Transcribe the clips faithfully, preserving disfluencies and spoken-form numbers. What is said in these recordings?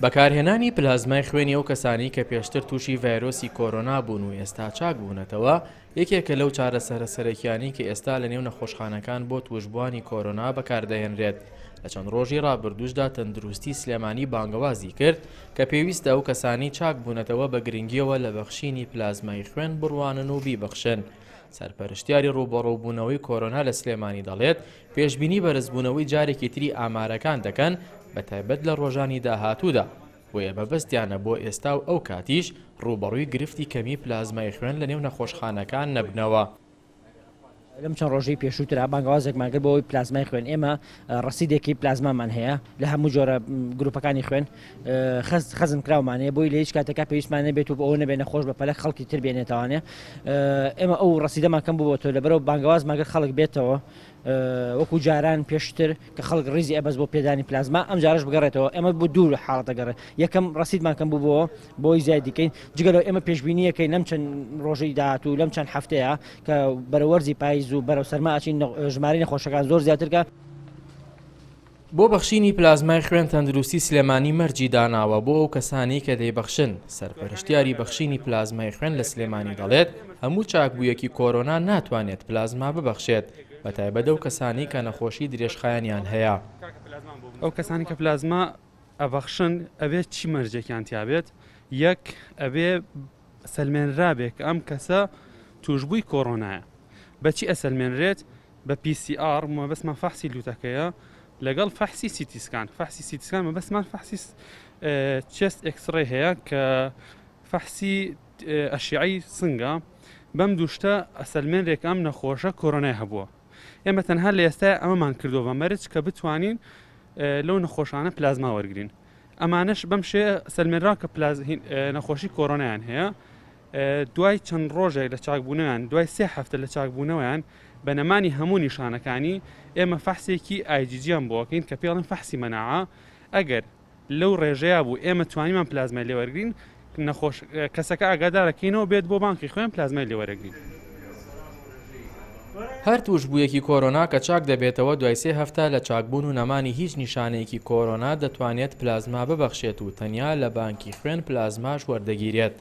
بەکارهێنانی پلازمای خوێنی ئەو کەسانی کە پێشتر تووشی ڤایرۆسی کۆرۆنا بوون و ئێستا چاک بوونەتەوە یەکێکە لەو چارەسەرە سەرەکیانەی کە ئێستا لە نێو نەخۆشخانەکان بۆ توشبووانی کۆرۆنا بەکاردەهێنرێت. لە چەند ڕۆژی ڕابردووشدا تەندروستی سلێمانی بانگەوازی کرد کە پێویستە ئەو کەسانی چاک بوونەتەوە بە گرنگیەوە لە بەخشینی پلازمای خوێن بڕوانن و بیبەخشن. سەرپەرشتیاری ڕووبەڕووبوونەوەی کۆرۆنا لە سلێمانی دەڵێت پێشبینی بەرزبوونەوەی جارێکی تری ئامارەکان دەکەن بە تایبەت لە ڕۆژانی داهاتوودا، بۆیە مەبەستیانە بۆ ئێستا و ئەو کاتیش ڕووبەڕووی گرفتی کەمی پلازمای خوێن لە نێو نەخۆشخانەکان نەبنەوە. لەم چەند ڕۆژەی پێشووترا بانگەوازێکمان کرد بۆ ئەوەی پلازمای خوێن، ئێمە ڕەسیدێکی پلازمامان هەیە لە هەموو جۆرە گروپەکانی خوێن خەزن کراومان هەیە، بۆی لە هیچ کاتێکا پێویستمان نەبێت و بۆ ئەوە نەبێت نەخۆش بە پەلە خەڵکی تر بێنێتەوانێ. ئێمە ئەو ڕەسیدەمان کەم بووەتەوە، لەبەرەوە بانگەوازمان کرد خەڵک بێتەوە وەکو جاران پێشتر کە خەڵک ڕیزی ئەبەست بۆ پێدانی پلازما، ئەم جارەش بگەڕێتەوە. ئێمە بۆ دوو حاڵەتە گەڕێ، یەکەم ڕەسیدمان کەم بوو بۆی زیاد دیکەین، جگە لەو ئێمە پێشبینیەکەین لەم چەند ڕۆژەی داهاتوو لەم چەند هەفتەیە کە بەرەو وەرزی پاییز و بەرەو سەرما ئەچین ژمارەی نەخۆشەکان زۆر زیاترکە. بۆ بەخشینی پلازمای خوێن تەندروستی سلێمانی مەرجی داناوە بۆ ئەو کەسانی کە دەیبەخشن. سەرپەرشتیاری بەخشینی پلازمای خوێن لە سلێمانی دەڵێت هەموو چاکبوویەکی کۆرۆنا ناتوانێت پلازما ببەخشێت، بە تایبەت ئەو کەسانی کە نەخۆشی درێژخایەنیان هەیە. ئەو کەسانی کە پلازما ئەبەخشن ئەبێت چی مەرجێکیان تیابێت؟ یەک، ئەبێ سەلمێنرابێت کە ئەم کەسە توشبووی کۆرۆنایە. بەچی ئەسەلمێنرێت؟ بە پی سی ئار، مەبەستمان فەحسی لوتەکەیە، لەگەڵ فەحسی CT scan. فەحسی CT scan مەبەستمان فەحسی chest X-ray هەیە کە فەحسی ئەشیعی سنگە. بەم دووشتە ئەسەلمێنرێت کە ئەم نەخۆشە کۆرۆنای هەبووە. ئێمە تەنها لە ئێستا ئەمەمان کردووە بە مەرج کە بتوانین لەو نەخۆشانە پلازما وەرگین. ئەمانەش بەم شێ سەلمێنرا کە نەخۆشی کۆرۆنایان هەیە. دوای چەند ڕۆژێک لە چاکبوونەوەیان، دوای سێ هەفتە لە چاکبوونەوەیان بە نەمانی هەموو نیشانەکانی ئێمە فەحسێکی ئایجیجیان بۆکەین کە پێڵن فەحسی مەناعە. ئەگەر لەو ڕێژەیە بوو ئێمە توانیمان پلازمای لێوەرگین، نەخۆش کەسەکە ئاگادارەکەینەوە بێت بۆ بانکی خوێن پلازمای لێوەرەگرین. هەر توشبوویەکی کۆرۆنا کە چاک دەبێتەوە دوای سێ هەفتە لە چاکبوون و نەمانی هیچ نیشانەیەکی کۆرۆنا دەتوانێت پلازما ببەخشێت و تەنیا لە بانکی خوێن پلازماش وەردەگیرێت.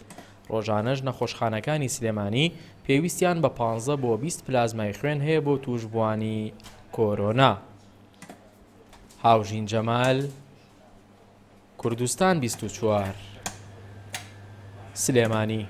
ڕۆژانەش نەخۆشخانەکانی سلێمانی پێویستیان بە پانزە بۆ بیست پلازمای خوێن هەیە بۆ توشبووانی کۆرۆنا. هاوژین جەمال، کوردستان بیست و چوار، سلێمانی.